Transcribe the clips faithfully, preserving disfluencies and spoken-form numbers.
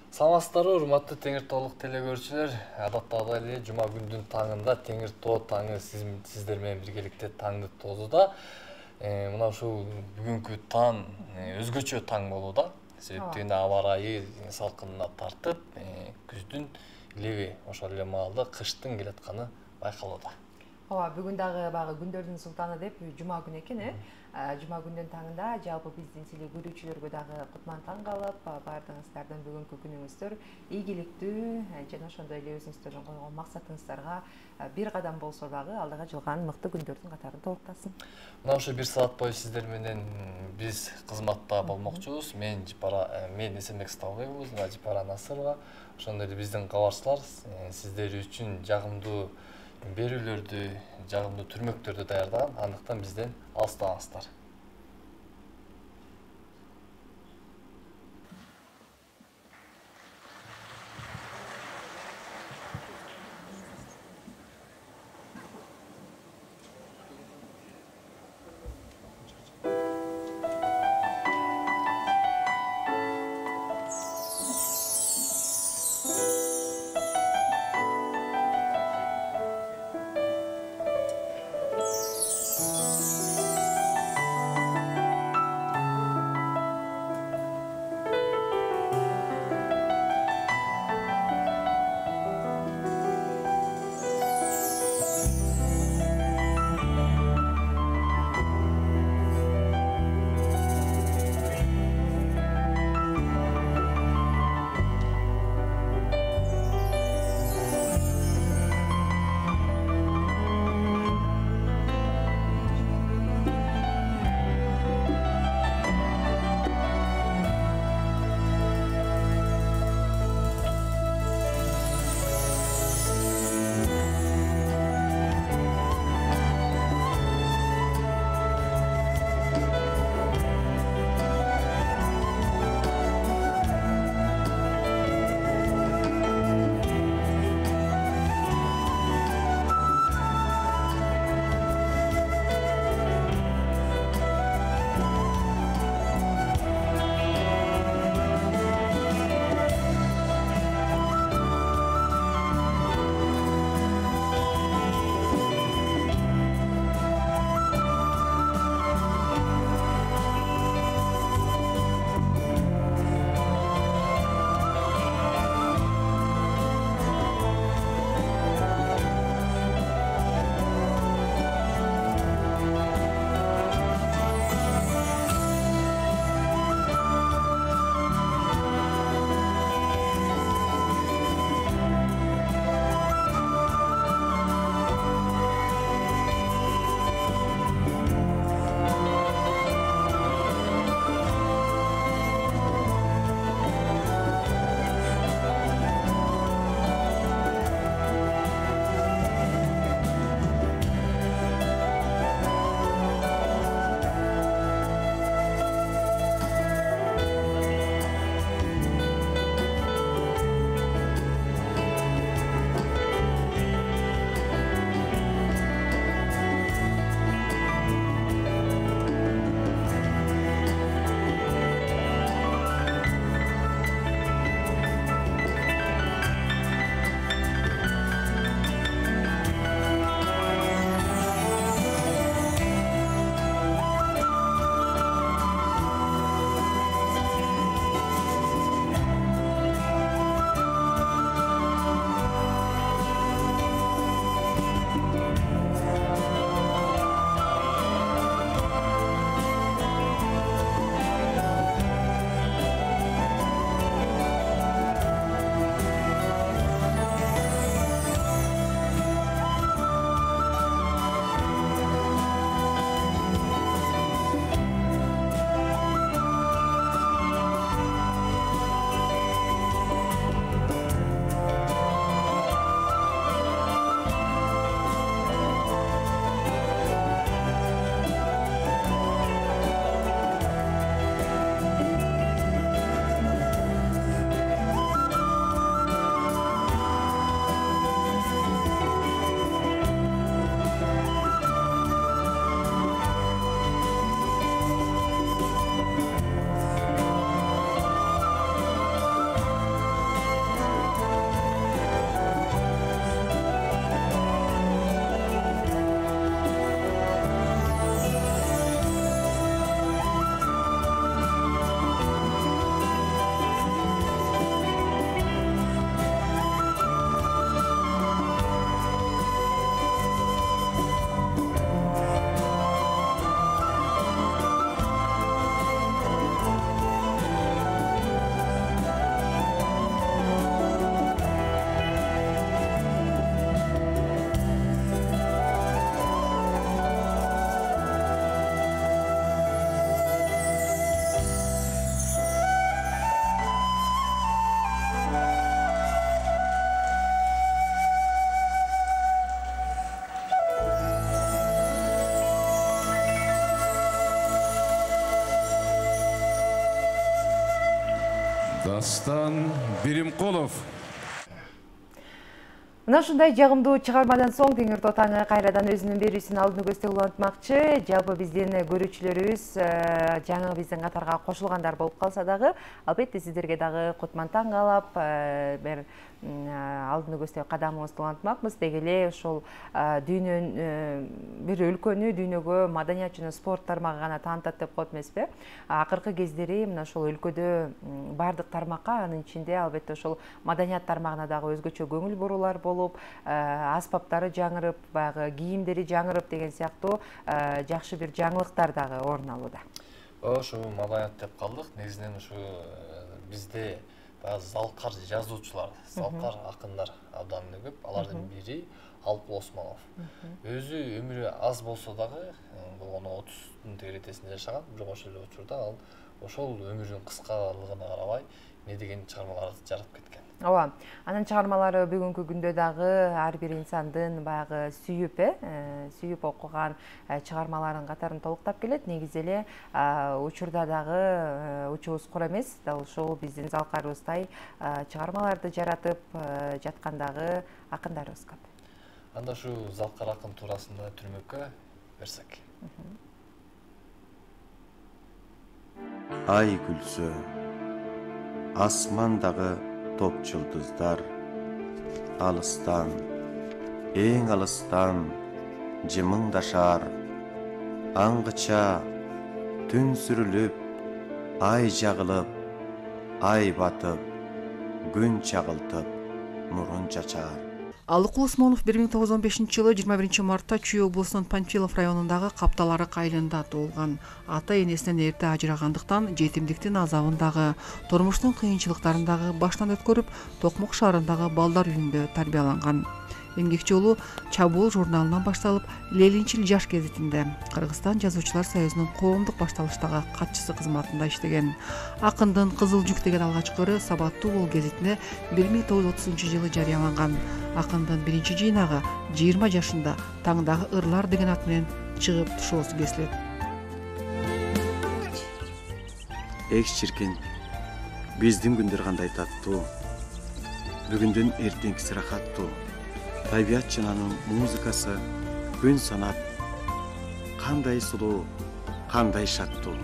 Саламатсыздарбы, урматтуу Теңир Тоолук теле көрүүчүлөр. Адаттагыдай эле жума күндүн таңында Теңир Тоо таңы сиздер менен биргеликте таңды тоозуда. Мына ушул бүгүнкү таң өзгөчө таң болууда. Себептен аба ырайы салкынына тартып, күздүн леби ошол эле маалда кыштын келатканы байкалууда. Ооба, бүгүн дагы багы күндөрдүн султаны деп жума күнү экен, э? Жума күндүн таңында жалпы биздин силе көрүүчүлөргө дагы кутман таң калып, баардыгыңыздардын бүгүнкү күнүңүздөр ийгиликтүү жана ошондой эле өзүңүздөрдүн койгон максатыңыздарга бир кадам болсо дагы алдыга жылган мыкты күндөрдүн катарын толуктасын. Мына ушул бир саат бою сиздер менен биз кызматта болмокчубуз. Мен Жипара, мен Эсенбек Сталбеков, жана Жипара Насырова. Ошондой эле биздин кабарчылар сиздер үчүн жагымдуу берүүлөрдү, жагымдуу түрмөктөрдү даярдаган. Андыктан бизден алыстабаңыздар. Дастан Биримкулов. Мына ушундай жагымдуу чыгармадан соң Теңир Тоо таңы кайрадан өзүнүн берүүсүн алдын көстө улантмакчы. Жалпы биздин көрүүчүлөрүбүз жаңы биздин катарга кошулгандар болуп калса дагы, албетте сиздерге дагы кутман таң каалап, бир алдын көстө кадамыбызды улантмакпыз. Деги эле ошол дүйнөн бир өлкөнү, дүйнөгө маданият жана спорт тармагы гана таанытат деп коет эмеспи? Акыркы кездери мына ошол өлкөдө бардык тармакка, анын ичинде албетте ошол маданият тармагына дагы өзгөчө көңүл бурулар болуп, аспаптары жаңырып, баягы кийимдери жаңырып деген сыяктуу жакшы бир жаңылыктар дагы орун алууда. Ошо маданият деп калдык. Негизинен ушу бизде залкар жазуучулар, залкар акындар абдан көп. Алардын бири Алпыл Осмонов. Өзү өмүрү аз болсо дагы, болгону отуздун тегеретесинде жашаган, бирок ошол эле учурда ал ошол өмүрүнүн кыскалыгына карабай не деген чыгармаларды жаратып кеткен. Ооба, анын чыгармалары бүгүнкү күндө дагы ар бир инсандын баягы сүйүп, э, сүйүп окуган чыгармаларын катарын толуктап келет. Негизи эле учурда дагы учубуз кура эмес, дал ушул биздин залкарыбыздай чыгармаларды жаратып жаткандагы акындарыбыз көп. Анда ушу залкар акын туурасында түрмөккө берсек. Ай күлсө, асмандагы топ жылдыздар, алыстан, эң алыстан жымыңдашар, аңгыча түн сүрүлүп, ай жагылып, ай батып, күн чагылтып, нурун чачар. Алпыл Осмонов бир миң тогуз жүз он бешинчи жылы жыйырма биринчи мартта Чүй облусунун Панфилов районундагы Капталарык айылында туулган. Ата энесинен эрте ажырагандыктан жетимдиктин азабындагы, турмуштун кыйынчылыктарындагы баштан өткөрүп, Токмок шаарындагы балдар үйүндө тарбияланган. Эмгек жолу Чабуул журналынан башталып, Ленинчил жаш гезитинде, Кыргызстан жазуучулар союзунун коомдук башталыштагы катчысы кызматында иштеген. Акындын Кызыл жүк деген алгачкы ыры Сабаттуу бул гезитине бир миң тогуз жүз отузунчу жылы жарыяланган. Акындын биринчи жыйнагы жыйырма жашында Таңдагы ырлар деген ат менен чыгып тушоосу кесилет. Экс чиркин, биздин күндөр кандай таттуу, бүгүндөн эртеңкиси рахаттуу. Табият жананын музыкасы күн санап, кандай сулуу, кандай шаттуу.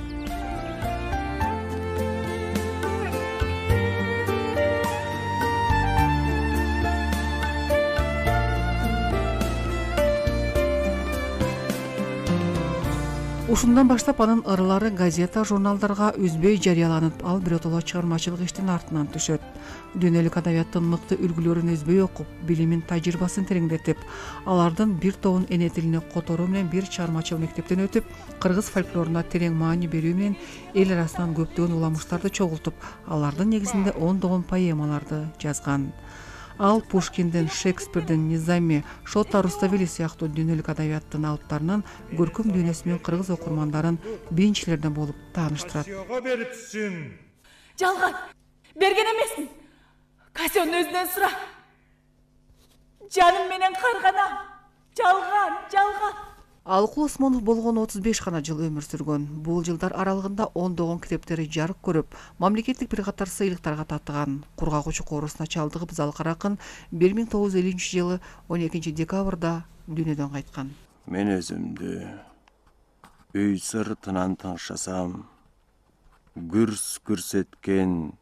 Ушундан баштап анын ырлары газета, журналдарга үзбөй жарыяланып, ал биротоло чыгармачылык иштин артынан түшөт. Дүйнөлүк адабияттын мыкты үлгүлөрүн үзбөй окуп, билимин, тажрыйбасын тереңдетип, алардын бир тобун эне тилине которуу менен бир чыгармачыл мектептен өтүп, кыргыз фольклоруна терең маани берүү менен эл арасынан көптөгөн уламыштарды чогултуп, алардын негизинде ондогон поэмаларды жазган. Ал Пушкиндин, Шекспирдин, Низами, Шотто Руставели сыяктуу дүйнөлүк адабияттын алыптарынын көркөм дүйнөсү менен кыргыз окурмандарын биринчилерден болуп тааныштырат. Жалган, берген эмесмин. Кассионун өзүнөн сура. Жаным менен карганам. Жалган, жалган. Алпыл Осмонов болгону отуз беш гана жыл өмүр сүргөн. Бул жылдар аралыгында ондогон китептери жарык көрүп, мамлекеттик бир катар сыйлыктарга татыган. Кургагучу коорусуна чалдыгып залкар акын бир миң тогуз жүз элүүнчү жылы он экинчи декабрда дүйнөдөн кайткан. Мен өзүмдү үй сыртынан тыңшасам, гүрс көрсөткөн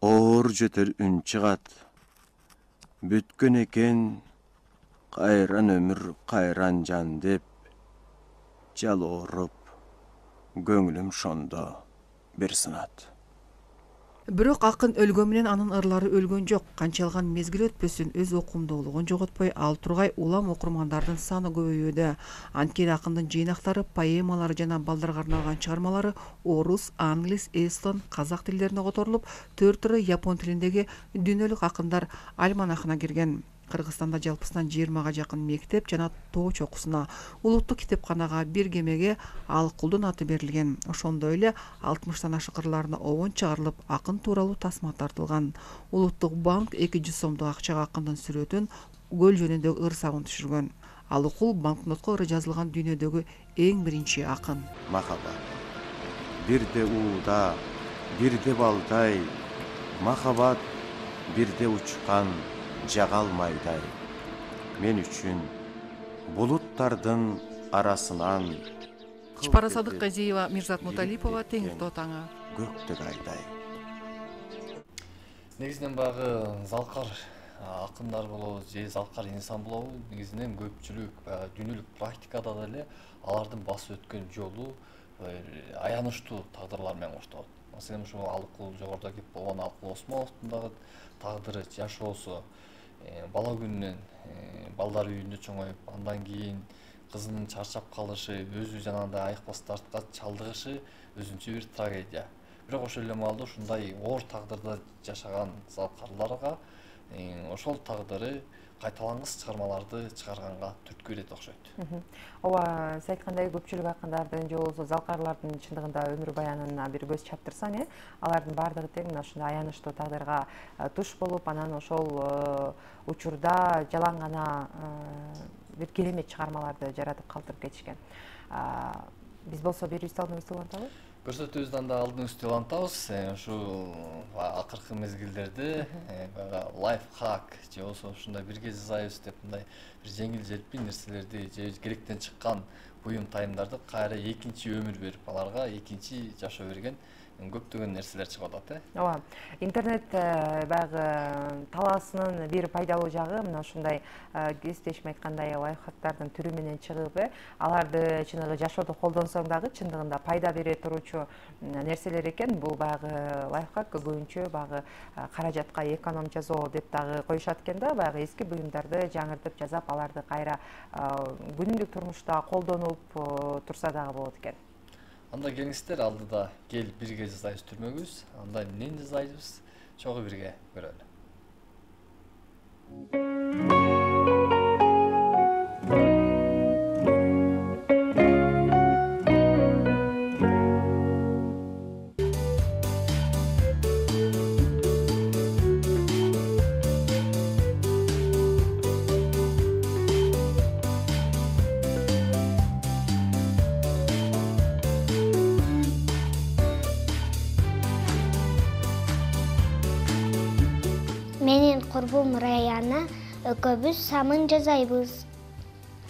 оор жетер үн чыгат. Бүткөн экен кайран өмүр, кайран жан деп жалооруп, көңүлүм шондо бир сынат. Бирок акын өлгөн менен анын ырлары өлгөн жок. Канчалган мезгил өтпөсүн өз окумдуулугун жоготпой, ал тургай улам окурмандардын саны көбөйүүдө. Анткени акындын жыйнактары, поэмалары жана балдарга арналган чыгармалары орус, англис, эстон, казак тилдерине которулуп, төрт ыры япон тилиндеги дүйнөлүк акындар альманахына кирген. Кыргызстанда жалпысынан жыйырмага жакын мектеп жана тоо чокусуна, улуттук китепканага, бир кемеге Алкулдун аты берилген. Ошондой эле алтымыштан ашык ырларына обон чыгарылып, акын тууралуу тасма тартылган. Улуттук банк эки жүз сомдук акчага акындын сүрөтүн, көл жөнүндөгү ыр сабын түшүргөн. Алкул банкнотко ыры жазылган дүйнөдөгү эң биринчи акын. Махаббат бирде ууда, бирде балдай, Махабат бирде учкан жагал майдай. Мен үчүн булуттардын арасынан Чпара Садыкказиева, Мирзат Муталипова, Теңир Тоо таңы. Көктөк айдай. Негизинен багы залкар акындар болобу же залкар инсан болобу, негизинен көпчүлүк баягы дүйнөлүк практикада деле алардын басып өткөн жолу аянычтуу тагдырлар менен коштолот. Маселен ушул Алыкул жогоруда кеп болгон Алыкул Осмоновдун дагы тагдыры жашоосу бала күнүнөн балдар үйүндө чоңоюп, андан кийин кызынын чарчап калышы, өзү жанагындай айыкпас дартка чалдыгышы өзүнчө бир трагедия. Бирок ошол эле маалда ушундай оор тагдырда жашаган залкарларга ошол тагдыры кайталангыс чыгармаларды чыгарганга түрткү берет окшойт. Ооба, сиз айткандай көпчүлүк акындардын же болбосо залкарлардын чындыгында өмүр баянына бир көз чаптырсаң, э, алардын баардыгы тең мына ушундай аянычтуу тагдырга туш болуп, анан ошол учурда жалаң гана бир керемет чыгармаларды жаратып калтырып кетишкен. Биз болсо берүүбүздү алдыңызды улантабы? Көрсөтүүбүздү анда алдыңызды улантабыз. Ушул акыркы мезгилдерде лайфхак же болбосо ушундай бирге жасайбыз деп мындай бир жеңил желпи нерселерди же керектен чыккан буюм тайымдарды кайра экинчи өмүр берип, аларга экинчи жашоо берген көптөгөн нерселер чыгып атат, э? Ооба. Интернет баягы талаасынын бир пайдалуу жагы мына ушундай кесиптешим айткандай лайфхактардын түрү менен чыгып, э, аларды чыныгы жашоодо колдонсоң дагы чындыгында пайда бере туручу нерселер экен. Бул баягы лайфхак көбүнчө баягы каражатка эконом жасоо деп дагы коюшат экен да, баягы эски буюмдарды жаңыртып жасап, аларды кайра күнүмдүк турмушта колдонуп турса дагы болот экен. Анда келиңиздер, алдыда кел бирге жасайбыз түрмөгүбүз. Анда эмнени жасайбыз? Чогуу бирге көрөлү. Менин курбум Раяна экөөбүз самын жасайбыз.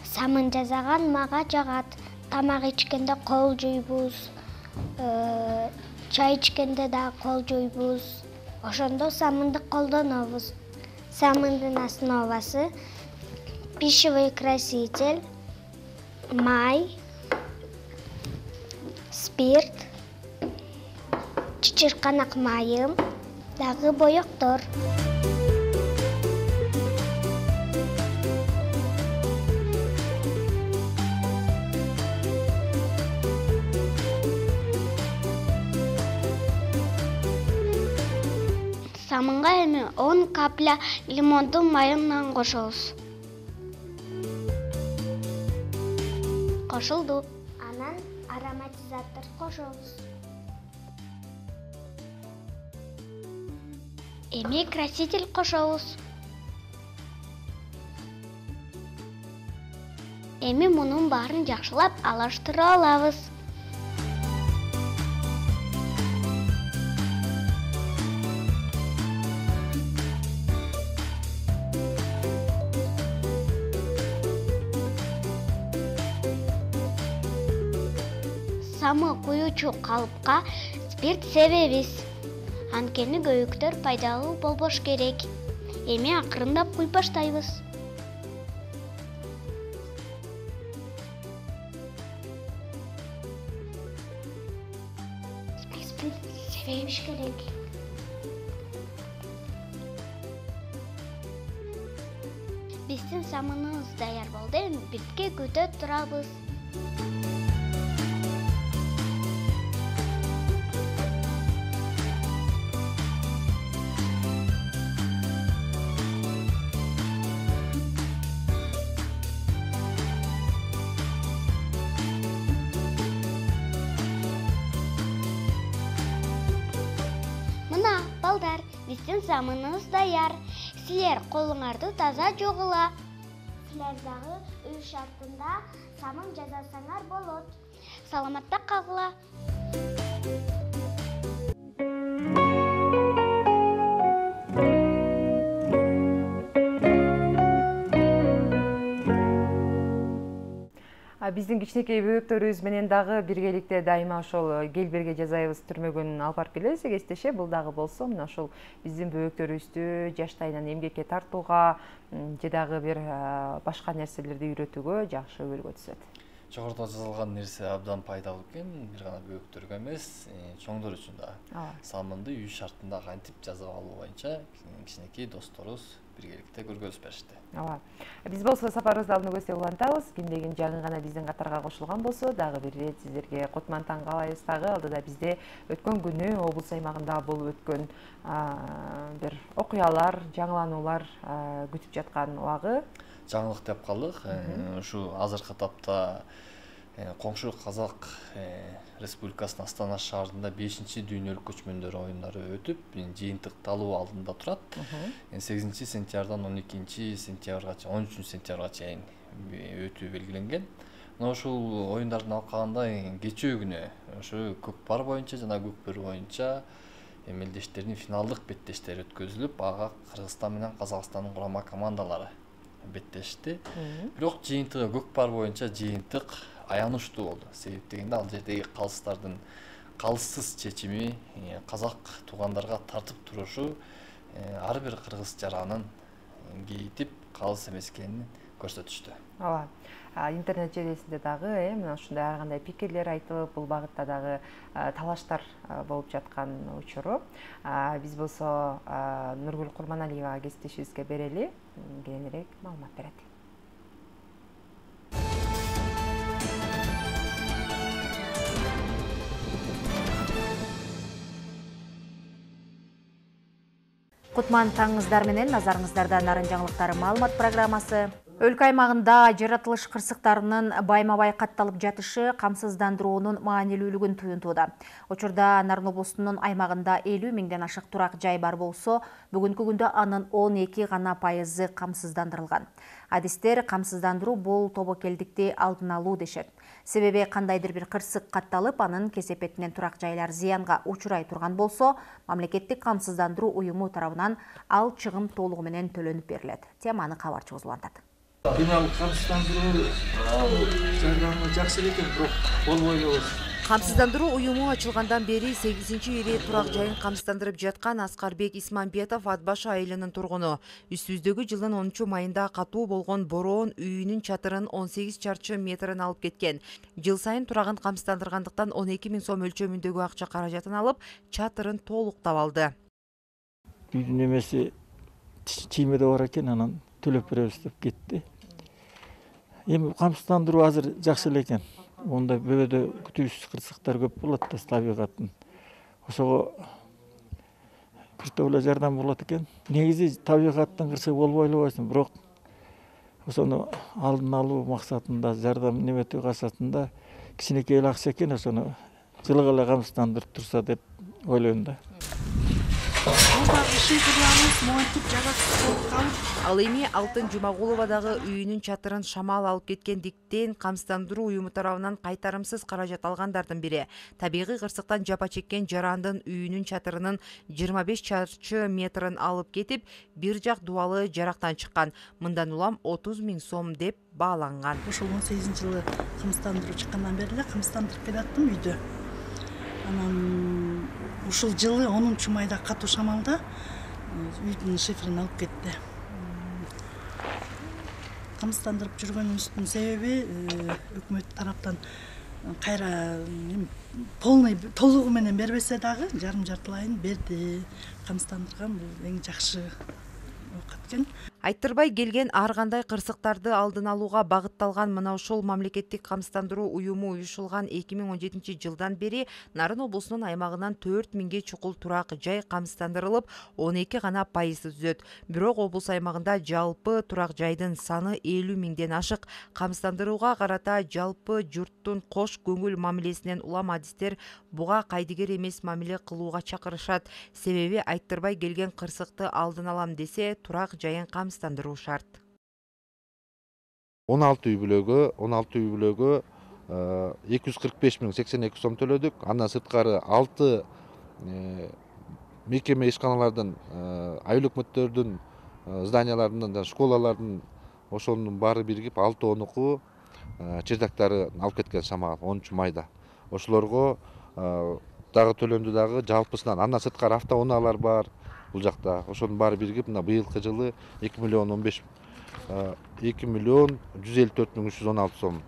Самын жасаган мага жагат. Тамак ичкенде кол жуйбуз, чай ичкенде да кол жуйбуз. Ошондо самынды колдонобуз. Самындын основасы пищевой краситель, май, спирт, чычырканак майым, дагы боектор. Самынга эми он капля лимондун майынан кошобуз. Кошулду. Анан ароматизатор кошобуз. Эми краситель кошобуз. Эми мунун баарын жакшылап алыштыра алабыз. Самы куючу калыпка спирт себебиз. Анткени көйүктөр пайдалуу болбош керек. Эми акырындап куй баштайбыз. Спирт себебиш керек. Биздин самыныбыз даяр болду. Эми битке күтө турабыз. Балдар, биздин самыныбыз даяр. Силер колуңарды таза жугула. Силер дагы үй шартында самын жасасаңар болот. Саламатта калгыла. Биздин кичинекей бөбөктөрүбүз менен дагы биргеликте дайыма ошол келберге жазайбыз түрмөгүн алып барып келебиз эгестеше. Бул дагы болсо мына ошол биздин бөбөктөрүбүздү жаштайынан эмгекке тартууга же дагы бир башка нерселерди үйрөтүүгө жакшы үлгү түзөт. Жогоруда жазылган нерсе абдан пайдалуу экен, бир гана бөбөктөргө эмес, чоңдор үчүн да. Самынды үй шартында кантип жазып алуу боюнча кичинекей досторубуз биргеликте көргөзүп беришти. Ооба. Биз болсо сапарыбызды алдын көздөп улантабыз. Кимдегин жаңы гана биздин катарга кошулган болсо, дагы бир ирет сиздерге кутман таң каалайбыз. Дагы алдыда бизде өткөн күнү облус аймагында болуп өткөн бир окуялар, жаңылануулар күтүп жаткан убагы. Жаңылык деп калдык. Ушу азыркы тапта коңшу Казак Республикасынын Астана шаарында бешинчи дүйнөлүк көчмөндөр оюндары өтүп, жыйынтыкталуу алдында турат. сегизинчи сентябрдан он экинчи сентябрга, он үчүнчү сентябрга чейин өтүү белгиленген. Мына ушул оюндардын алкагында кечээ күнү ошо көк пар боюнча жана көк бөрү боюнча мелдештердин финалдык беттештери өткөзүлүп, ага Кыргызстан менен Казакстандын курама командалары беттешти. Бирок жыйынтыгы көк пар боюнча жыйынтык аянычтуу болду. Себеп дегенде ал жердеги калыстардын калыссыз чечими казак туугандарга тартып турушу ар бир кыргыз жаранын кейитип калыс эмес экенин көрсөтүштү. Ооба. Интернет желесинде дагы мына ушундай ар кандай пикирлер айтылып, бул багытта дагы талаштар болуп жаткан учуру. Биз болсо Нургүл Курманалиевага кесиптешибизге берели, кийинирээк маалымат берет. Кутман таңыңыздар менен назарыңыздарда нарын жаңылыктары маалымат программасы. Өлкө аймагында жаратылыш кырсыктарынын байма-бай катталып жатышы камсыздандыруунун маанилүүлүгүн туюнтууда. Учурда Нарын облусунун аймагында элүү миңден ашык турак жай бар болсо, бүгүнкү күндө анын он эки гана пайызы камсыздандырылган. Адистер камсыздандыруу бул тобокелдикти алдын алуу дешет. Себеби кандайдыр бир кырсык катталып, анын кесепетинен турак жайлар зыянга учурай турган болсо, мамлекеттик камсыздандыруу уюму тарабынан ал чыгым толугу менен төлөнүп берилет. Теманы кабарчыбыз улантат. Финал камсыздандыруу жардамы жакшы экен, бирок болбой эле. Камсыздандыруу уюму ачылгандан бери сегизинчи ирет турак жайын камсыздандырып жаткан Аскарбек Исмамбетов Ат баш айылынын тургуну. Үстүбүздөгү жылдын онунчу майында катуу болгон бороон үйүнүн чатырын он сегиз чарчы метрин алып кеткен. Жыл сайын турагын камсыздандыргандыктан он эки миң сом өлчөмүндөгү акча каражатын алып, чатырын толуктап алды. Үйдүн эмеси чиймеде бар экен, анан төлөп беребиз деп кетти. Эми камсыздандыруу азыр жакшы эле экен. Онда бөбөдө күтүүсүз кырсыктар көп болот да табигаттын. Ошого күчтүү эле жардам болот экен. Негизи табигаттын кырсыгы болбой эле койсун, бирок ошону алдын алуу максатында, жардам неметүү касатында кичинекей эле акча экен, ошону жылык эле камсыздандырып турса деп ойлойм да. Ал эми Алтын Жумагулова дагы үйүнүн чатырын шамал алып кеткендиктен камсыздандыруу уюму тарабынан кайтарымсыз каражат алгандардын бири. Табигый кырсыктан жапа чеккен жарандын үйүнүн чатырынын жыйырма беш чарчы метрин алып кетип, бир жак дубалы жарактан чыккан. Мындан улам отуз миң сом деп бааланган. Ошол он сегизинчи жылы камсыздандыруу чыккандан бери эле камсыздандырып келаттым үйдө. Анан ушул жылы онунчу майда катуу шамалда үйдүн шифрин алып кетти. Камсыздандырып жүргөнүбүздүн себеби өкмөт тараптан кайра полный толугу менен бербесе дагы жарым жартылайын берди. Камсыздандырган бул эң жакшы оокат экен. Айттырбай келген ар кандай кырсыктарды алдын алууга багытталган мына ушул мамлекеттик камсыздандыруу уюму уюшулган эки миң он жетинчи жылдан бери Нарын облусунун аймагынан төрт миңге чукул турак жай камсыздандырылып, он эки гана пайызы түзөт. Бирок облус аймагында жалпы турак жайдын саны элүү миңден ашык. Камсыздандырууга карата жалпы журттун кош көңүл мамилесинен улам адистер буга кайдыгер эмес мамиле кылууга чакырышат. Себеби айттырбай келген кырсыкты алдын алам десе, турак жайын камсыздандыруу шарт. он алты үй бүлөгө, он алты үй бүлөгө эки жүз кырк беш миң сексен эки сом төлөдүк. Андан сырткары алты мекеме ишканалардын, айыл өкмөттөрдүн зданияларынын жана школалардын ошонун баары биригип алты он уку чердактары алып кеткен шамал онунчу майда. Ошолорго дагы төлөндү дагы жалпысынан. Андан сырткары автоунаалар бар бул жакта. Ошонун баары биригип мына быйылкы жылы эки миллион он беш эки миллион жүз элүү төрт миң үч жүз он алты сом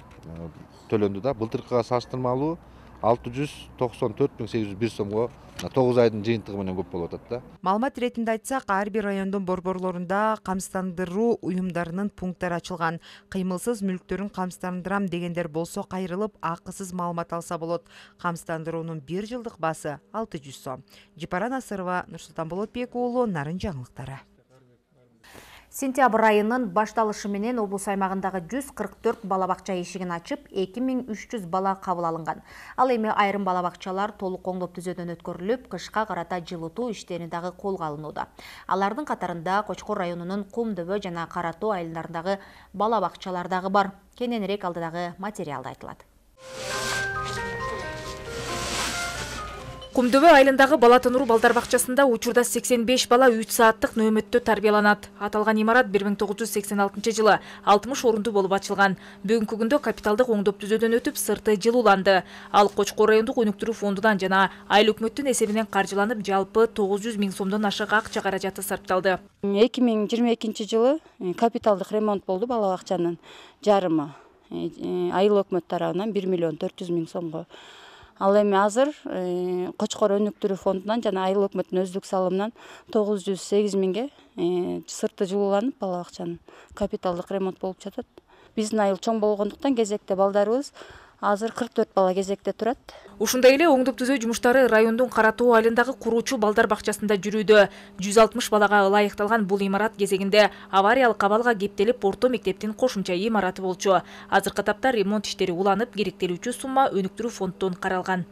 төлөндү да. Былтыркыга салыштырмалуу алты жүз токсон төрт миң сегиз жүз бир сомго тогуз айдын жыйынтыгы менен көп болуп атат да. Маалымат иретинде айтсак, ар бир райондун борборлорунда камсыздандыруу уюмдарынын пункттары ачылган. Кыймылсыз мүлктөрүн камсыздандырам дегендер болсо кайрылып, акысыз маалымат алса болот. Камсыздандыруунун бир жылдык баасы алты жүз сом. Жипара Насырова, Нурсултан Болотбек уулу, Нарын жаңылыктары. Сентябрь айынын башталышы менен облус аймагындагы жүз кырк төрт бала бакча эшигин ачып, эки миң үч жүз бала кабыл алынган. Ал эми айрым бала бакчалар толук оңдоп түзөөдөн өткөрүлүп, кышка карата жылытуу иштери дагы колго алынууда. Алардын катарында Кочкор районунун Кум дөбө жана Кара тоо айылдарындагы бала бакчалар дагы бар. Кененирээк алдыдагы материалда айтылат. Кум дөбө айылындагы бала тонуруу балдар бакчасында учурда сексен беш бала үч сааттык нөөмөттө тарбияланат. Аталган имарат бир миң тогуз жүз сексен алтынчы жылы алтымыш орунду болуп ачылган. Бүгүнкү күндө капиталдык оңдоп түзөөдөн өтүп, сырты жылууланды. Ал Кочкор райондук өнүктүрүү фондунан жана айыл өкмөттүн эсебинен каржыланып, жалпы тогуз жүз миң сомдон ашык акча каражаты сарпталды. эки миң жыйырма экинчи жылы капиталдык ремонт болду бала бакчанын жарымы. Айыл өкмөт тарабынан бир миллион төрт жүз миң сомго. Ал эми азыр Кочкор өнүктүрүү фондунан жана айыл өкмөттүн өздүк салымынан тогуз жүз сегиз миңге сырты жылууланып бала бакчанын капиталдык ремонт болуп жатат. Биздин айыл чоң болгондуктан кезекте балдарыбыз азыр кырк төрт бала кезекте турат. Ушундай эле оңдоп түзөө жумуштары райондун Кара тоо айылындагы куруучу балдар бакчасында жүрүүдө. жүз алтымыш балага ылайыкталган бул имарат кезегинде авариялык абалга кептелип, орто мектептин кошумча имараты болчу. Азыркы тапта ремонт иштери уланып, керектелүүчү сумма өнүктүрүү фонддон каралган.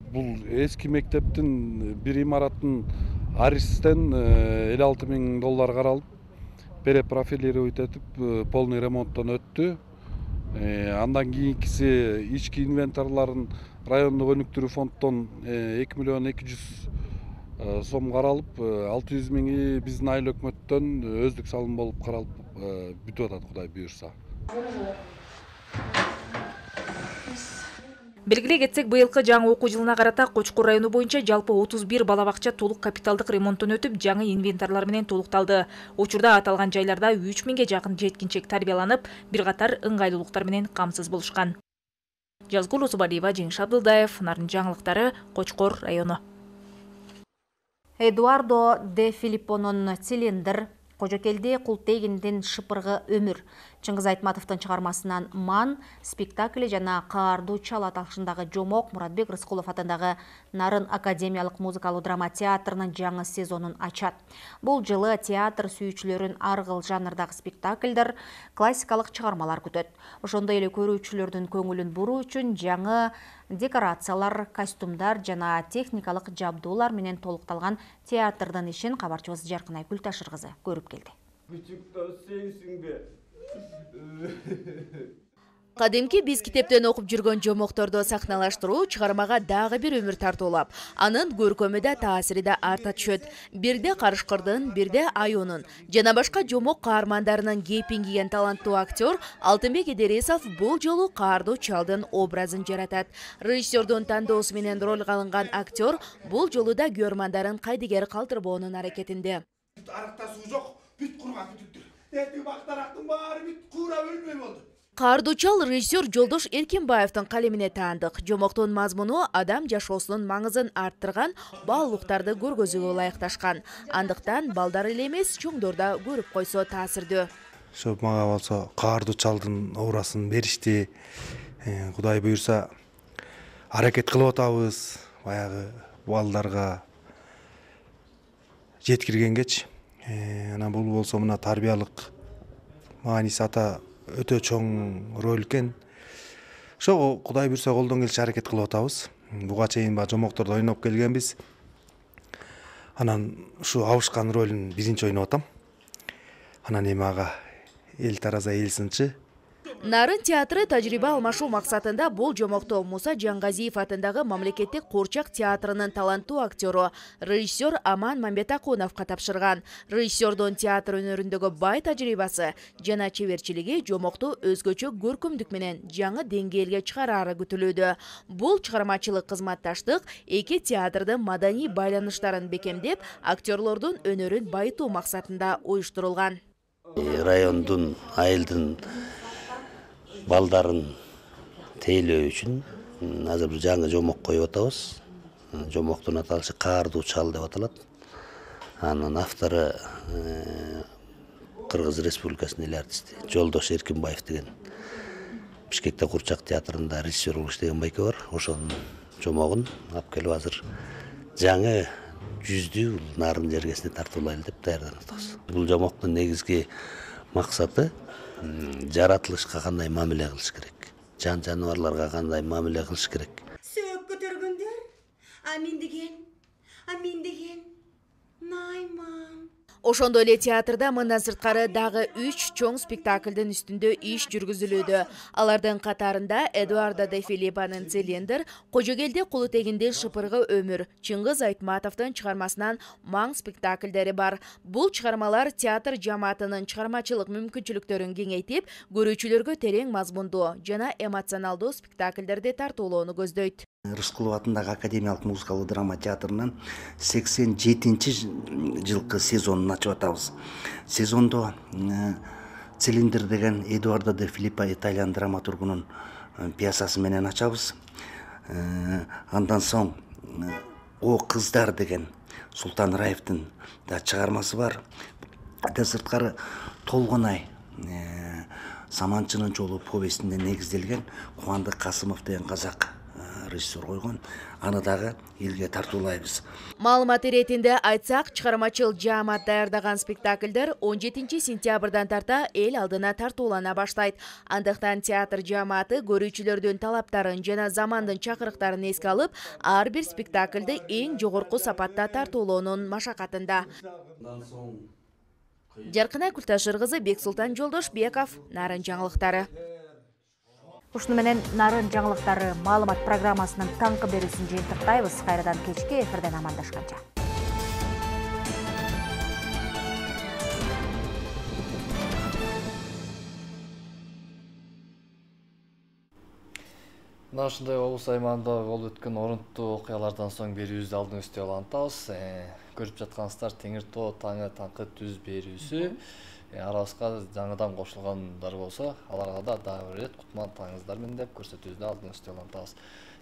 Бул эски мектептин бир имараттын арistен элүү алты миң доллар каралып, перепрофилировать этип, полный ремонттон өттү. Андан кийинкиси ички инвентарларын райондук өнүктүрүү фонддон эки миллион эки жүз сом каралып, алты жүз миңи биздин айыл өкмөттөн өздүк салым болуп каралып бүтүп атат, Кудай буйрса. Белгилей кетсек, быйылкы жаңы окуу жылына карата Кочкор району боюнча жалпы отуз бир бала бакча толук капиталдык ремонттон өтүп, жаңы инвентарлар менен толукталды. Учурда аталган жайларда үч миңге жакын жеткинчек тарбияланып, бир катар ыңгайлуулуктар менен камсыз болушкан. Жазгул Усубалиева, Жеңиш Абдылдаев, Нарын жаңылыктары, Кочкор району. Эдуардо де Филиппонун «Цилиндр», Кожокелди Култегиндин «Шыпыргы өмүр», Чыңгыз Айтматовдун чыгармасынан «Ман» спектакли жана «Каардуу чал» аталышындагы жомок Муратбек Рыскулов атындагы Нарын академиялык музыкалуу драма театрынын жаңы сезонун ачат. Бул жылы театр сүйүүчүлөрүн ар кыл жанрдагы спектакльдер, классикалык чыгармалар күтөт. Ошондой эле көрүүчүлөрдүн көңүлүн буруу үчүн жаңы декорациялар, костюмдар жана техникалык жабдуулар менен толукталган театрдын ишин кабарчыбыз Жаркынай Күлташыр кызы көрүп келди. Кадимки биз китептен окуп жүргөн жомокторду сахналаштыруу чыгармага дагы бир өмүр тартуулап, анын көркөмү да таасири да арта түшөт. Бирде Карышкырдын, бирде Айонун жана башка жомок каармандарынын кейпин кийген таланттуу актер Алтынбек Идерисов бул жолу Каардуу чалдын образын жаратат. Режиссердун тандоосу менен ролго алынган актер бул жолу да көрөрмандарын кайдыгер калтырбоонун аракетинде. Аракта суу жок, бүт кургак бүтүптүр. Эти бактарактын баары бүт куура өлмөй болду. Каардуу чал режиссер Жолдош Эркинбаевдин калемине таандык. Жомоктун мазмуну адам жашоосунун маңызын арттырган, баалуулуктарды көргөзүүгө ылайыкташкан. Андыктан балдар эле эмес, чоңдор да көрүп койсо таасирдүү. Ошо мага болсо Каардуу чалдын образын беришти. Кудай буйрса аракет кылып атабыз. Баягы балдарга жеткиргенгечи. Анан бул болсо мына тарбиялык мааниси ата өтө чоң роль экен. Ошого Кудай буйрса колдон келиши аракет кылып атабыз. Буга чейин ба жомоктордо ойноп келгенбиз. Анан ушу абышкан ролун биринчи ойноп атам. Анан эми ага эл тараза эл сынчы Нарын театры тажрыйба алмашуу максатында бул жомокту Муса Жангазиев атындагы мамлекеттик Куурчак театрынын таланттуу актёру, режиссер Аман Мамбетакуновго тапшырган. Режиссердун театр өнөрүндөгү бай тажрыйбасы жана чеберчилиги жомокту өзгөчө көркөмдүк менен жаңы деңгээлге чыгарары күтүлүүдө. Бул чыгармачылык кызматташтык эки театрдын маданий байланыштарын бекемдеп, актерлордун өнөрүн байытуу максатында уюштурулган. Райондун, айылдын балдарын тейлөө үчүн азыр бир жаңы жомок коюп атабыз. Жомоктун аталышы Каардуу чал деп аталат. Анын автору Кыргыз Республикасынын эл артисти Жолдош Эркинбаев деген Бишкекте Куурчак театрында режиссер болуп иштеген байке бар. Ошонун жомогун алып келип азыр жаңы жүздүү нарын жергесине тартуулайлы деп даярданып атабыз. Бул жомоктун негизги максаты жаратылышка кандай мамиле кылыш керек, жан жаныбарларга кандай мамиле кылыш керек. Сөөк көтөргөндөр, а мен деген, а мен деген Найман. Ошондой эле театрда мындан сырткары дагы үч чоң спектаклдын үстүндө иш жүргүзүлүүдө. Алардын катарында Эдуардо де Филиппанын Цилиндр, Кожогелде Кулутегиндин Шыпыргы өмүр, Чыңгыз Айтматовдун чыгармасынан Маң спектаклдери бар. Бул чыгармалар театр жамаатынын чыгармачылык мүмкүнчүлүктөрүн кеңейтип, көрүүчүлөргө терең мазмундуу жана эмоционалдуу спектаклдерди тартуулоону көздөйт. Рыскулов атындагы академиялык музыкалуу драма театрынан сексен жетинчи жылкы сезонун ачып атабыз. Сезондо Цилиндр деген Эдуардо де Филиппа итальян драматургунун пьесасы менен ачабыз. Андан соң О кыздар деген Султан Раевдин да чыгармасы бар. Андан сырткары Толгонай Саманчынын жолу повестине негизделген Кубандык Касымов деген казак режиссер койгон. Аны дагы элге тартуулайбыз. Маалымат иретинде айтсак, чыгармачыл жаамат даярдаган спектаклдер он жетинчи сентябрдан тарта эл алдына тартуулана баштайт. Андыктан театр жааматы көрүүчүлөрдүн талаптарын жана замандын чакырыктарын эске алып, ар бир спектаклды эң жогорку сапатта тартуулоонун машакатында. Жаркынай Култашыр кызы, Бексултан Жолдошбеков, Нарын жаңылыктары. Ушуну менен Нарын жаңылыктары маалымат программасынын таңкы берүүсүн жыйынтыктайбыз. Кайрадан кечки эфирден амандашканча. Мына ушундай облус аймагында болуп өткөн орунттуу окуялардан соң берүүбүздү алдын үстү улантабыз. Көрүп жаткансыздар Теңир Тоо таңы таңкы түз берүүсү. Арабызга жаңыдан кошулгандар болсо, аларга да дагы бир рет кутман таңыңыздар менен деп көрсөтүүбүздү алдын үстү улантабыз.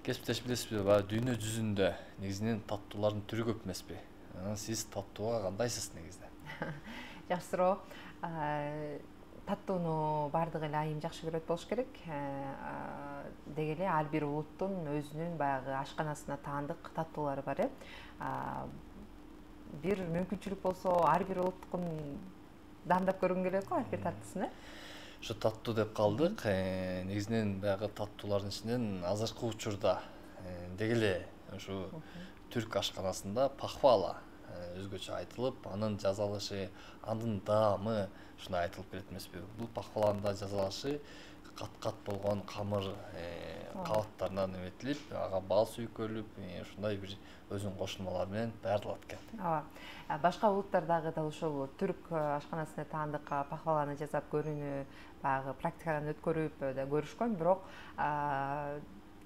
Кесиптеш билесизби, дүйнө жүзүндө негизинен таттуулардын түрү көп эмеспи? Сиз таттууга кандайсыз негизде? Жакшыроо. Таттууну бардыгы эле айым жакшы көрөт болуш керек. Деги эле ар бир улуттун өзүнүн баягы ашканасына таандык таттуулары бар э. Бир мүмкүнчүлүк болсо, ар бир улуттукун дандап көргүн келет го, ар бир таттысын, э? Ушу таттуу деп калдык. Негизинен баягы таттуулардын ичинен азыркы учурда деги эле ушу түрк ашканасында пахвала өзгөчө айтылып, анын жазалышы, анын даамы ушундай айтылып келет эмеспи? Бул пахваланын да жазалышы кат-кат болгон камыр кабаттарынан эметилип, ага бал сүйкөлүп, ушундай бир өзүнүн кошулмалары менен даярдалат экен. Ооба. Башка улуттардагы да ушул түрк ашканасына таандык пахваланы жасап көрүүнү баягы практикадан өткөрүп да көрүшкөн, бирок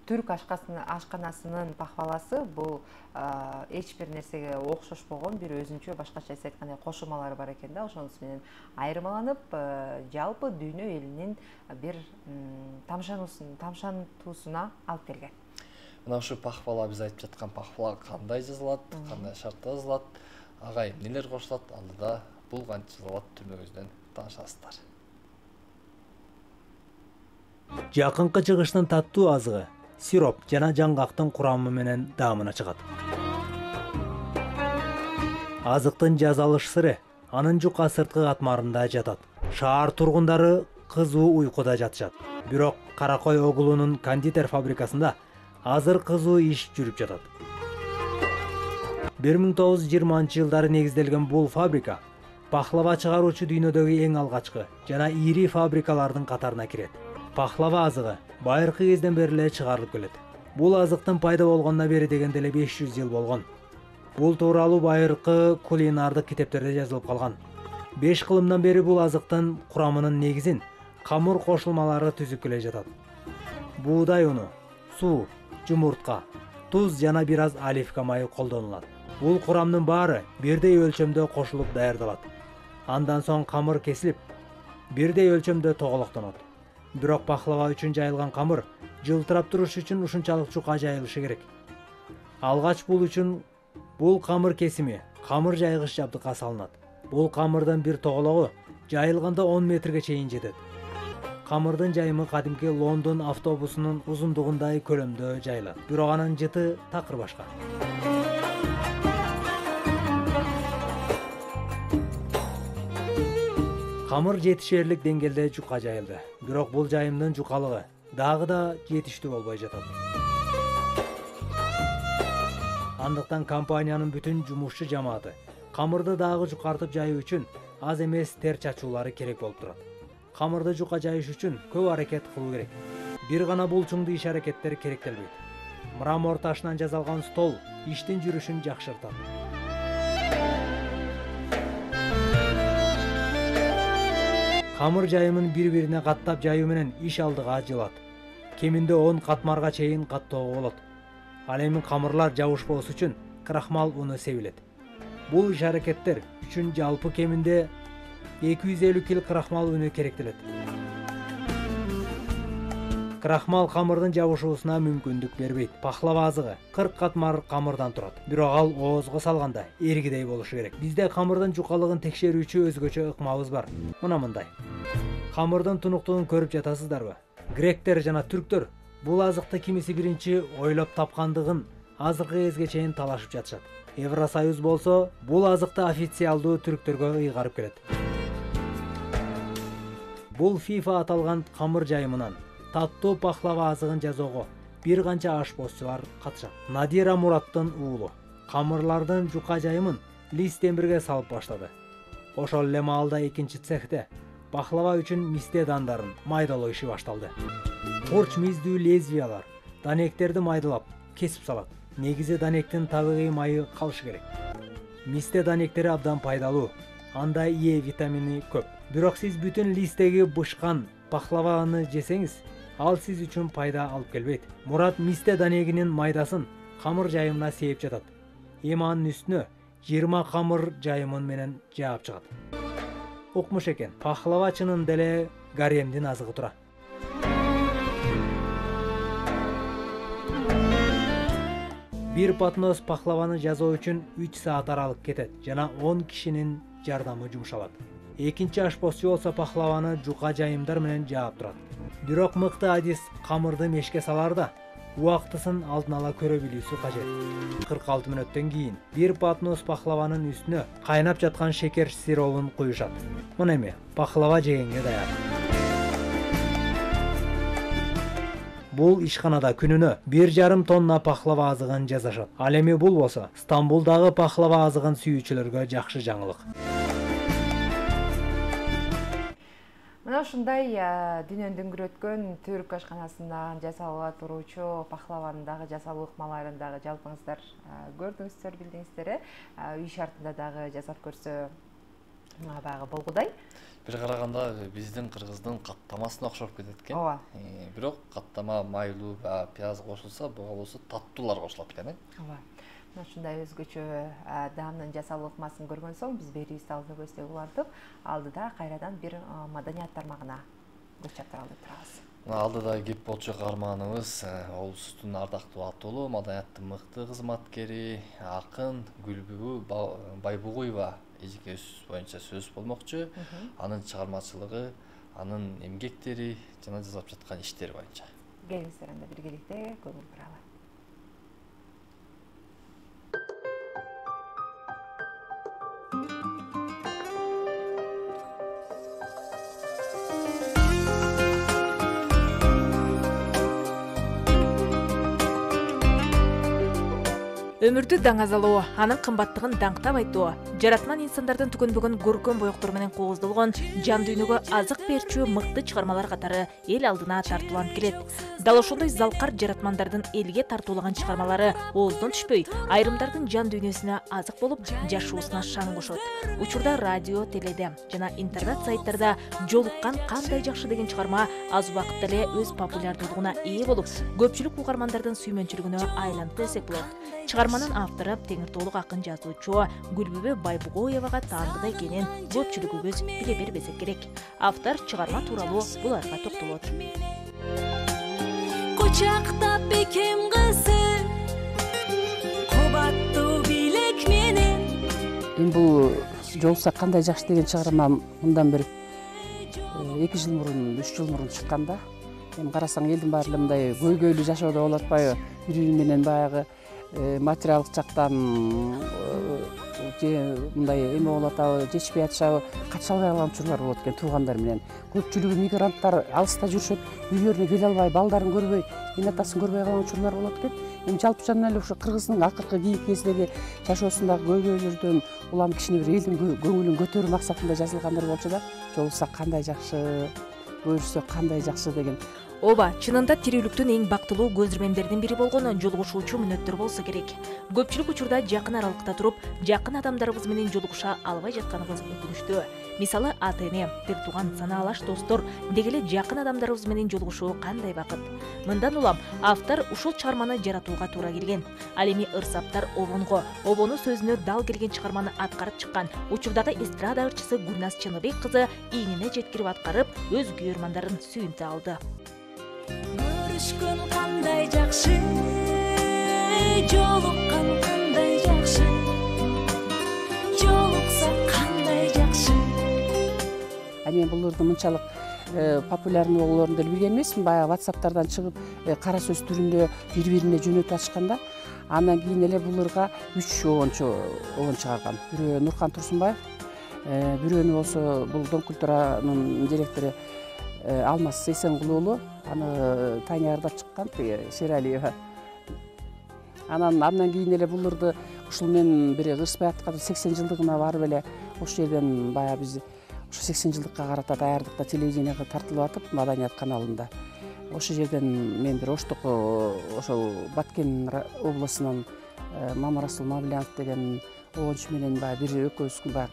түрк ашканасынын пахваласы бул эч бир нерсеге окшошпогон бир өзүнчө башкача айтканда кошулмалары бар экен да. Ошонус менен айырмаланып, жалпы дүйнө элинин бир тамшантуусуна алып келген. Мына ушу пахвала, биз айтып жаткан пахвала кандай жазылат, кандай шартта жазылат, ага эмнелер кошулат, алдыда бул кантип жазылат түрмөгүбүздөн таанышасыздар. Жакынкы чыгыштын таттуу азыгы сироп жана жаңгактын курамы менен даамына чыгат. Азыктын жазалыш сыры анын жука сырткы катмарында жатат. Шаар тургундары кызуу уйкуда жатышат. Бирок Каракой Огулунун кондитер фабрикасында азыр кызуу иш жүрүп жатат. бир миң тогуз жүз жыйырманчы жылдары негизделген бул фабрика пахлава чыгаруучу дүйнөдөгү эң алгачкы жана ири фабрикалардын катарына кирет. пахлава азыгы байыркы кезден бери эле чыгарылып келет. Бул азыктын пайда болгонуна бери дегенде эле беш жүз жыл болгон. Бул тууралуу байыркы кулинардык китептерде жазылып калган. беш кылымдан бери бул азыктын курамынын негизин камыр кошулмалары түзүп келе жатат. Буудай уну, суу, жумуртка, туз жана бир аз оливка майы колдонулат. Бул курамдын баары бирдей өлчөмдө кошулуп даярдалат. Андан соң камыр кесилип, бирдей өлчөмдө тоголоктонот. Бирок пахлава үчүн жайылган камыр жылтырап туруш үчүн ушунчалык жука жайылышы керек. Алгач бул үчүн бул камыр кесими камыр жайгыш жабдыкка салынат. Бул камырдын бир тогологу жайылганда он метрге чейин жетет. Камырдын жайымы кадимки Лондон автобусунун узундугундай көлөмдө жайылат. Бирок анын жыты такыр башка. Камыр жетишерлик деңгээлде жука жайылды. Бирок бул жайымдын жукалыгы дагы да жетиштүү болбой жатат. Андыктан компаниянын бүтүн жумушчу жамааты камырды дагы жукартып жайуу үчүн аз эмес тер чачуулары керек болуп турат. Камырды жука жайыш үчүн көп аракет кылуу керек. Бир гана булчуңдуу иш аракеттер керектелбейт. Мрамор ташынан жасалган стол иштин жүрүшүн жакшыртат. Камыр жайымын бири-бирине каттап жайуу менен иш алдыга жылат. Кеминде он катмарга чейин каттоого болот. Ал эми камырлар жабышпоосу үчүн крахмал уну себилет. Бул иш аракеттер үчүн жалпы кеминде эки жүз элүү кил крахмал үнү керектелет. Крахмал камырдын жабышуусуна мүмкүндүк бербейт. Пахлава азыгы кырк катмар камырдан турат. Бирок ал оозго салганда эргидей болушу керек. Бизде камырдын жукалыгын текшерүүчү өзгөчө ыкмабыз бар. Мына мындай. Камырдын тунуктугун көрүп жатасыздарбы? Гректер жана түрктөр бул азыкты кимиси биринчи ойлоп тапкандыгын азыркы кезге чейин талашып жатышат. Евросоюз болсо бул азыкты официалдуу түрктөргө ыйгарып келет. Бул FIFA аталган камыр жайымынан таттуу пахлава азыгын жасоого бир канча ашпозчулар катышат. Надира Мураттын уулу камырлардын жука жайымын лист темирге салып баштады. Ошол эле маалда экинчи цехте пахлава үчүн мисте дандарын майдалоо иши башталды. Курч миздүү лезвиялар данектерди майдалап кесип салат. Негизи данектин табигый майы калышы керек. Мисте данектери абдан пайдалуу. Анда Е витамини көп. Бирок сиз бүтүн листтеги бышкан пахлаваны жесеңиз, ал сиз үчүн пайда алып келбейт. Мурат мисте данегинин майдасын камыр жайымына сээп жатат. Эми анын үстүнө жыйырма камыр жайымын менен жаап чыгат. Укмуш экен, пахлава чынында эле гаремдин азыгы тура. Бир патнос пахлаваны жасоо үчүн үч саат аралык кетет жана он кишинин жардамы жумшалат. Экинчи ашпозчу болсо пахлаваны жука жайымдар менен жаап турат. Бирок мыкты адис камырды мешке саларда убактысын алдын ала көрө билүүсү кажет. кырк алты мүнөттөн кийин бир патнос пахлаванын үстүнө кайнап жаткан шекер сиробун куюшат. Мына эми пахлава жегенге даяр. Бул ишканада күнүнө бир жарым тонна пахлава азыгын жасашат. Ал эми бул болсо Стамбулдагы пахлава азыгын сүйүүчүлөргө жакшы жаңылык. Мына ушундай дүйнөнүн дүңгүрөткөн түрк ашканасынан жасалып туруучу пахлаванын дагы жасалуу ыкмаларын дагы жалпыңыздар көрдүңүздөр, билдиңиздер. Үй шартында дагы жасап көрсө баягы болгудай. Бир караганда биздин кыргыздын каттамасына окшоп кетет экен. Ооба. Бирок каттама майлуу пияз кошулса, буга болсо таттуулар кошулат экен. Ооба. Мына ушундай өзгөчө даамдын жасалуу ыкмасын көргөн соң биз берүүбүздү алдыда көздөп улантып, алдыда кайрадан бир маданият тармагына көз чаптыралы деп турабыз. Алдыда кеп болчу каарманыбыз облустун ардактуу атуулу, маданияттын мыкты кызматкери, акын Гүлбүгү Байбугуева эжекебиз боюнча сөз болмокчу. Анын чыгармачылыгы, анын эмгектери жана жасап жаткан иштери боюнча. Келиңиздер анда биргеликте көңүл буралы. Өмүрдү даңазалоо, анын кымбаттыгын даңктап айтуу, жаратман инсандардын түгөнбөгөн көркөм боёктор менен кооздолгон жан дүйнөгө азык берчү мыкты чыгармалар катары эл алдына тартууланып келет. Дал ошондой залкар жаратмандардын элге тартуулаган чыгармалары ооздон түшпөй, айрымдардын жан дүйнөсүнө азык болуп, жашоосуна шаң кошот. Учурда радио, теледе жана интернет сайттарда жолуккан кандай жакшы деген чыгарма аз убакытта эле өз популярдуулугуна ээ болуп, көпчүлүк угармандардын сүймөнчүлүгүнө айланды десек болот. Чыгарманын автору Теңиртоолук акын жазуучу Гүлбүбө Байбугоевага таандык экенин көпчүлүгүбүз биле бербесек керек. Автор чыгарма тууралуу буларга токтолот. Кучактап бекем кызы кубаттуу билек менен. Эми бул жолукса кандай жакшы деген чыгарма мындан бир эки жыл мурун, үч жыл мурун чыккан да. Эми карасаң элдин баары эле мындай көйгөйлүү жашоодо болуп атпайбы? Бири-бири менен баягы материалдык жактан же мындай эме болуп атабы, жетишпей атышабы, кача албай калган учурлар болот экен туугандар менен. Көпчүлүгү мигранттар алыста жүрүшөт, үйлөрүнө келе албай, балдарын көрбөй, эне атасын көрбөй калган учурлар болот экен. Эми жалпы жана эле ошо кыргыздын акыркы кийинки кездеги жашоосундагы көйгөйлөрдөн улам кичине бир элдин көңүлүн көтөрүү максатында жазылгандар болчу да. Жолукса кандай жакшы, көрүшсө кандай жакшы деген. Ооба, чынында тирүүлүктүн эң бактылуу көз ирмемдеринин бири болгон жолугушуучу мүнөттөр болсо керек. Көпчүлүк учурда жакын аралыкта туруп, жакын адамдарыбыз менен жолугуша албай жатканыбыз өкүнүчтүү. Мисалы, ата-эне, бир тууган санаалаш достор, деги эле жакын адамдарыбыз менен жолугушуу кандай бакыт. Мындан улам автор ушул чыгарманы жаратууга туура келген. Ал эми ырсаптар обонго, обону сөзүнө дал келген чыгарманы аткарып чыккан учурдагы эстрада ырчысы Гүлназ Чыныбек кызы ийнине жеткирип аткарып, өз күйөрмандарын сүйүнтө алды. Көрүшкөн кандай жакшы, жолуккан кандай жакшы, жолукса кандай жакшы. А мен буларды мынчалык популярный болоорун деле билген эмесмин. Баягы WhatsApp'тардан чыгып, кара сөз түрүндө бири-бирине жөнөтүп атышканда, андан кийин эле буларга үч обончу обон чыгарган. Бирөө Нуркан Турсунбаев, бирөөнү болсо бул Дом культуранын директору Алмаз Сейсенкулу уулу, аны Таня ырдап чыккан, Шералиева. Анан андан кийин эле буларды ушул мен бир ырыспай атканда сексен жылдыгына барып эле ошол жерден баягы биз ошо сексен жылдыкка карата даярдыкта телевиденияга тартылып атып, Маданият каналында. Ошол жерден мен бир оштук ошол Баткен областынан Мамарасул Мавлянов деген обончу менен баягы бир экөөбүз баягы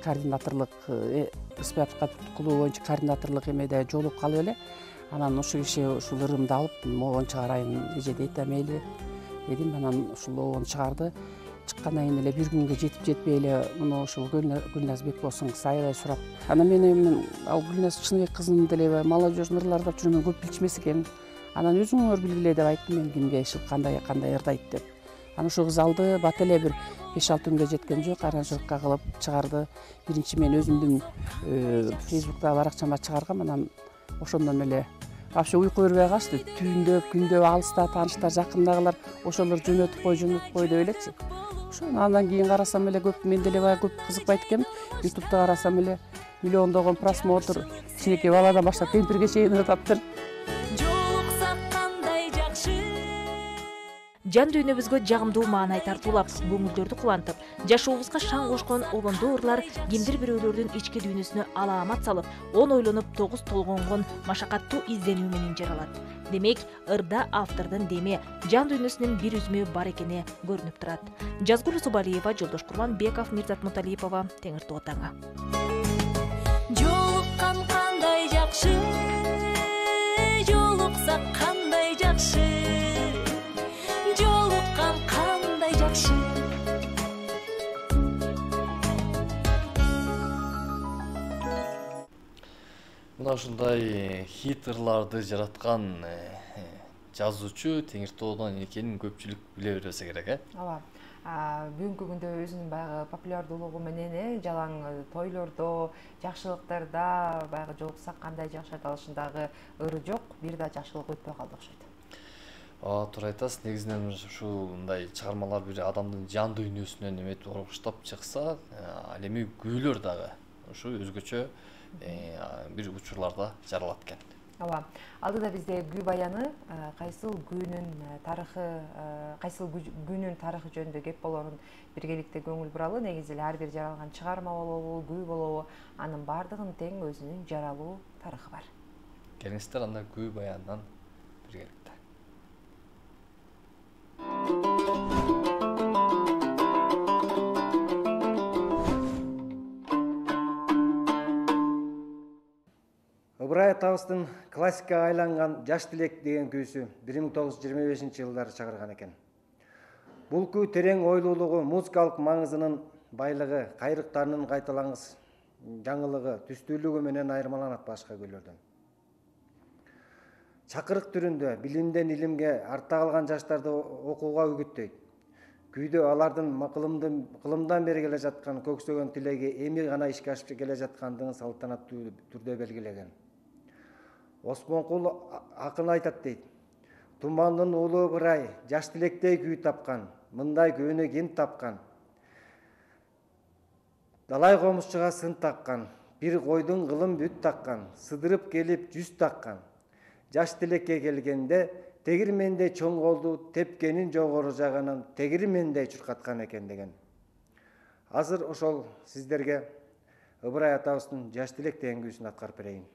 координаторлук ырыспай клубу боюнча координаторлук эмеде жолугуп калып эле, анан ошол киши ушул ырымды алып, обон чыгарайын эже дейт, мейли дедим. Анан ушул обон чыгарды. Чыккандан кийин эле бир күнгө жетип жетпей эле муну ушул Гүлназ Бекбосуңуз аябай сурап. Анан мен эми ал Гүлназ Чыныбек кызын деле молодежный ырларды жүрүм, көп билчүмес экен. Анан өзүңөр билгиле деп айттым мен, кимге ишил кандай кандай ырдайт деп. Анан ошол кыз алды, бат эле бир беш алты күнгө жеткен жок, аранжировка кылып чыгарды. Биринчи мен өзүмдүн Facebook'та баракчама чыгаргам, анан ошондон эле вообще уйку бербей калышты. Түндөп, күндөп алыста тааныштар, жакындагылар ошолор жөнөтүп кой, жөнөтүп кой деп элечи. Ошон андан кийин карасам эле көп, мен деле баягы көп кызыкпайт экенмин. ютубта карасам эле миллиондогон просмотр, кичинекей баладан баштап кемпирге чейин ырдаптыр. Жан дүйнөбүзгө жагымдуу маанай тартуулап, көңүлдөрдү кубантып, жашообузга шаң кошкон обондуу ырлар кимдир бирөөлөрдүн ички дүйнөсүнө алаамат салып, он ойлонуп, тогуз толгонгон машакаттуу изденүү менен жаралат. Демек, ырда автордун деми, жан дүйнөсүнүн бир үзмү бар экени көрүнүп турат. Жазгул Субалиева, Жолдош Курманбеков, Мирзат Муталипова, Теңиртоо таңы. Жолуккан кандай жакшы, жолукса кандай жакшы. Мына ушундай хит ырларды жараткан жазуучу Теңиртоодон экенин көпчүлүк биле бербесе керек, э? Ооба. Бүгүнкү күндө өзүнүн баягы популярдуулугу менен жалаң тойлордо, жакшылыктарда баягы жолукса кандай жакшы аталышындагы ыры жок, бир да жакшылык өтпөй калды окшойт. Ооба, туура айтасыз. Негизинен ушундай чыгармалар бир адамдын жан дүйнөсүнөн эметип уруштап чыкса, ал эми күүлөр дагы ушу өзгөчө бир учурларда жаралат экен. ооба, алдыда бизде күү баяны кайсыл күүнүн тарыхы, кайсыл күүнүн тарыхы жөнүндө кеп болорун биргеликте көңүл буралы. Негизи эле ар бир жаралган чыгарма болобу, күү болобу, анын баардыгынын тең өзүнүн жаралуу тарыхы бар. Келиңиздер анда күү баянынан биргеликте. Ыбырай атабыздын классикага айланган «Жаш тилек» деген күүсү бир миң тогуз жүз жыйырма бешинчи жылдары чыгарган экен. Бул күү терең ойлуулугу, музыкалык маңызынын байлыгы, кайрыктарынын кайталангыс жаңылыгы, түстүүлүгү менен айырмаланат башка күйлөрдөн. Чакырык түрүндө билимден илимге артта калган жаштарды окууга үгүттөйт. Күйдө алардын кылымдан бери келе жаткан көксөгөн тилеги эми гана ишке ашып келе жаткандыгын салтанаттуу түрдө белгилеген. Осмонкул акын айтат дейт: «Тумандын уулу Ыбырай жаш тилектей күй тапкан, мындай күүнү ким тапкан? Далай комузчуга сын таккан, бир койдун кылым бүт таккан, сыдырып келип жүз таккан. Жаш тилекке келгенде тегирмендей чоң колду тепкенин жогору жагынан тегирмендей чуркаткан экен» деген. Азыр ошол сиздерге Ыбырай атабыздын «Жаш тилек» деген күүсүн аткарып берейин.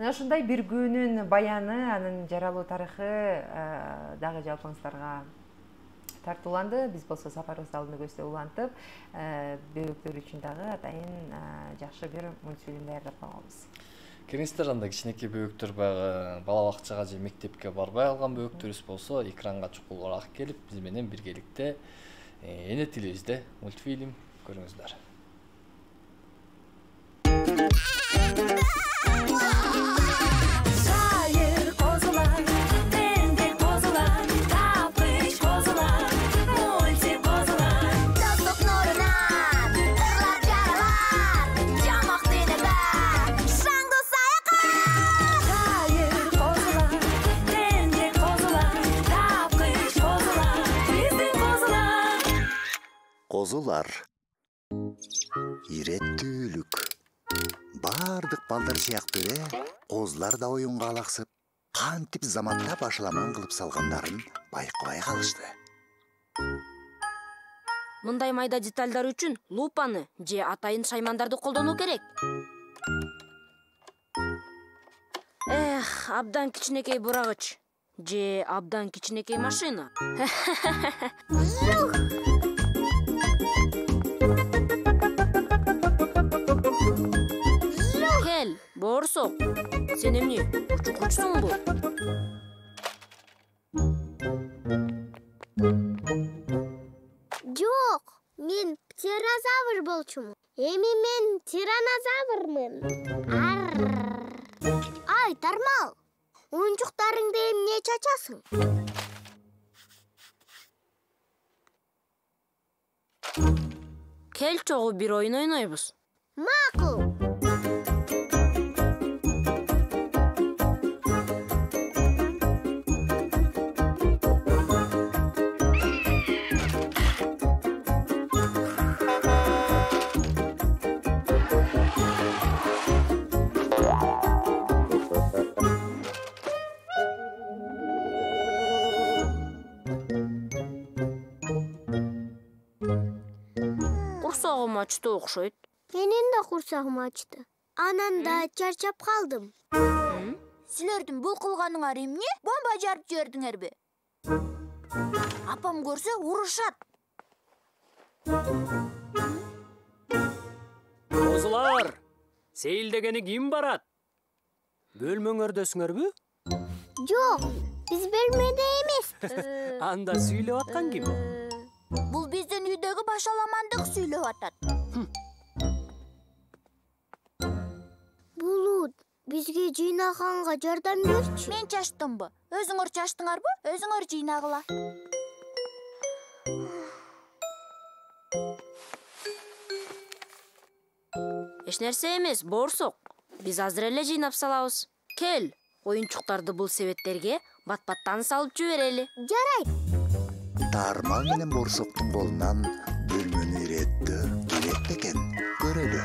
Мына ушундай бир күнүн баяны, анын жаралуу тарыхы дагы жалпыңыздарга тартууланды. Биз болсо сапарыбыз алдында көздөй улантып, бөбөктөр үчүн дагы атайын жакшы бир мультфильм даярдап койгонбуз. Келиңиздер, анда кичинекей бөбөктөр баягы бала бакчага же мектепке барбай алган бөбөктөрүбүз болсо, экранга чукулураак келип, биз менен биргеликте Эне тилибизде мультфильм көрүңүздөр. Шайыр козулар, тендек козулар, тапкыч козулар, мультик козулар. Достук нурунан, ырлап жаралар, жамак тилебе, шаңдуу саякат. Шайыр козулар, тендек козулар, тапкыч козулар, биздин козулар. Козулар. Иреттүүлүк. Бардык балдар сыяктуу эле козулар да оюнга алаксып, кантип заматта башаламан кылып салгандарын байкабай калышты. Мындай майда детальдар үчүн лупаны же атайын шаймандарды колдонуу керек. Эх, абдан кичинекей бурагыч же абдан кичинекей машина. Кел, борсок. Сен эмне, учкучсуңбу? Жок, мен птерозавр болчумун. Эми мен тиранозаврмын. Ай, Тармал, оюнчуктарыңды эмне чачасың? Кел чогуу бир оюн ойнойбуз. Макул. Курсагым ачты окшойт. Менин да курсагым ачты. Анан да чарчап калдым. Силердин бул кылганыңар эмне? Бомба жарып жибердиңерби? Апам көрсө урушат. Козулар, сейилдегени ким барат? Бөлмөңөрдөсүңөрбү? Жок, биз бөлмөдө эмеспиз. Анда сүйлөп аткан ким? Бул биздин үйдөгү башаламандык сүйлөп атат. Булут, бизге жыйнаганга жардам берчи. Мен чачтымбы? Өзүңөр чачтыңарбы? Өзүңөр жыйнагыла. Эч нерсе эмес, борсок. Биз азыр эле жыйнап салабыз. Кел, оюнчуктарды бул себеттерге бат-баттан салып жиберели. Жарайт. Тармал менен борсоктун колунан бөлмөнү иреттөө керек экен. Көрөлү.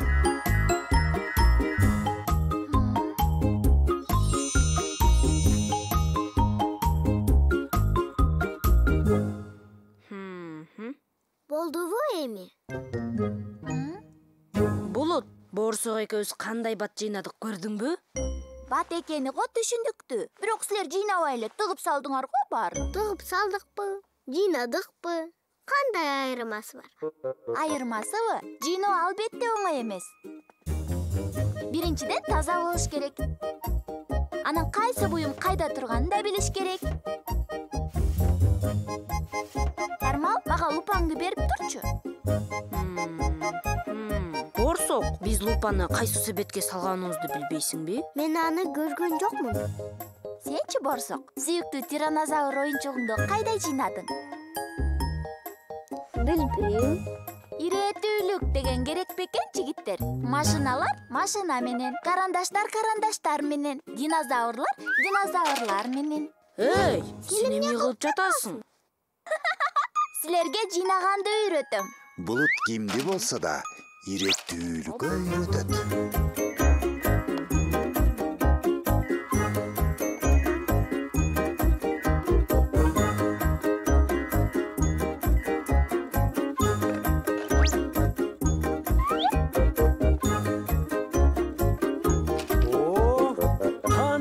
Болдубу эми? Булут, борсок экөөбүз кандай бат жыйнадык көрдүңбү? Бат экени го түшүндүктү. Бирок силер жыйнабай эле тыгып салдыңар го баарын. Тыгып салдыкпы? Жыйнадыкпы? Кандай айырмасы бар? Айырмасыбы? Жыйноо албетте оңой эмес. Биринчиден таза болуш керек. Анан кайсы буюм кайда турганын да билиш керек. Тармал, мага лупаңды берип турчу. Борсок, биз лупаны кайсы себетке салганыбызды билбейсиңби? Мен аны көргөн жокмун. Сенчи, борсок, сүйүктүү тиранозавр оюнчугуңду кайда жыйнадың? Билбейм. Иреттүүлүк деген керек бекен, жигиттер. Машиналар машина менен, карандаштар карандаштар менен, динозаврлар динозаврлар менен. Эй, сен эмне кылып жатасың? Силерге жыйнаганды үйрөтөм. Булут кимди болсо да иреттүүлүккө үйрөтөт.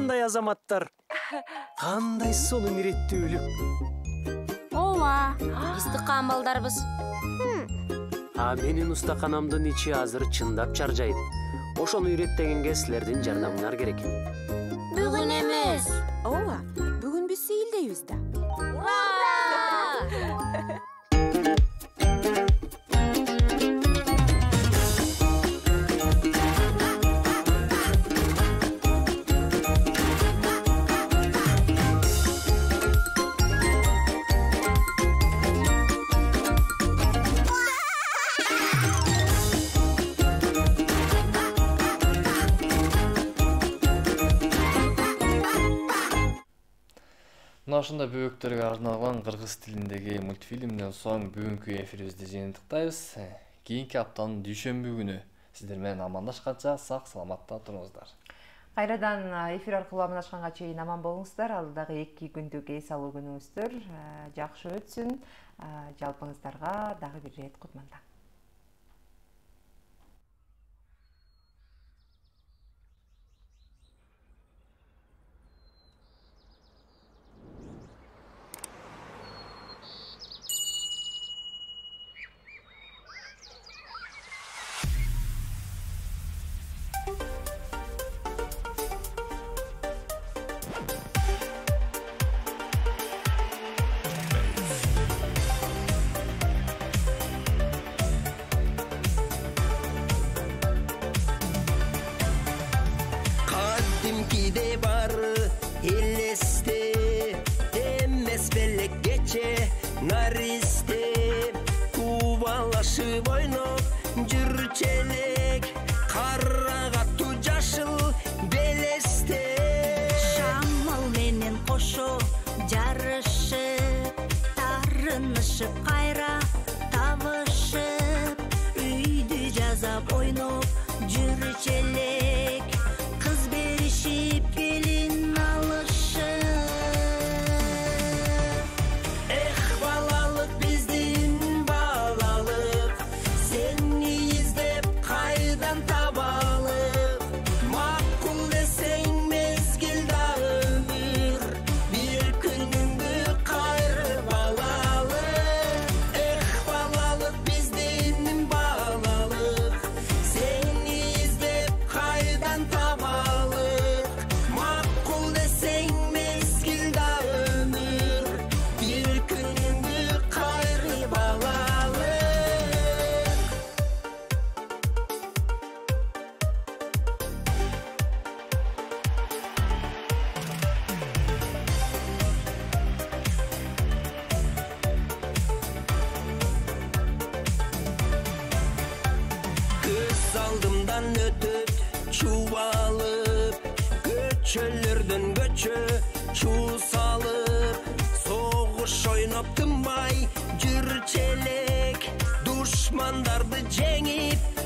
кандай азаматтар, кандай сонун иреттүүлүк. ооба, биз тыккан балдарбыз. А менин устаканамдын ичи азыр чындап чаржайт. Ошону иреттегенге силердин жардамыңар керек. Бүгүн эмес. Ооба, бүгүн биз сейилдейбиз да. Ура! Мына ушундай бөбөктөргө арналган кыргыз тилиндеги мультфильмден соң бүгүнкү эфирибизди жыйынтыктайбыз. Кийинки аптанын дүйшөмбү күнү сиздер менен амандашканча сак саламатта туруңуздар. Кайрадан эфир аркылуу амандашканга чейин аман болуңуздар. Алдыдагы эки күндүк эс алуу күнүңүздөр жакшы өтсүн. Жалпыңыздарга дагы бир ирет кутман таң. Кадимкиде бар элесте, эмес белек кече наристе, кубалашып ойноп жүрчелек, кара катуу жашыл белесте. Шамал менен кошо жарышып, тарынышып кайра табышып, үйдү жазап ойноп жүрчелек, кыз беришип келин алышып. Эх, балалык биздин балалык, сени издеп кайдан табалык, макул десең мезгил да өмүр, бир күнүңдү кайрып алалык. Эх, балалык биздин балалык, сени издеп кайдан табалык, макул десең мезгил да өмүр, бир күнүңдү кайрып алалык. Көз алдымдан өтөт чубалып, көчөлөрдөн көчө чуу салып, согуш ойноп тынбай жүрчелек, душмандарды жеңип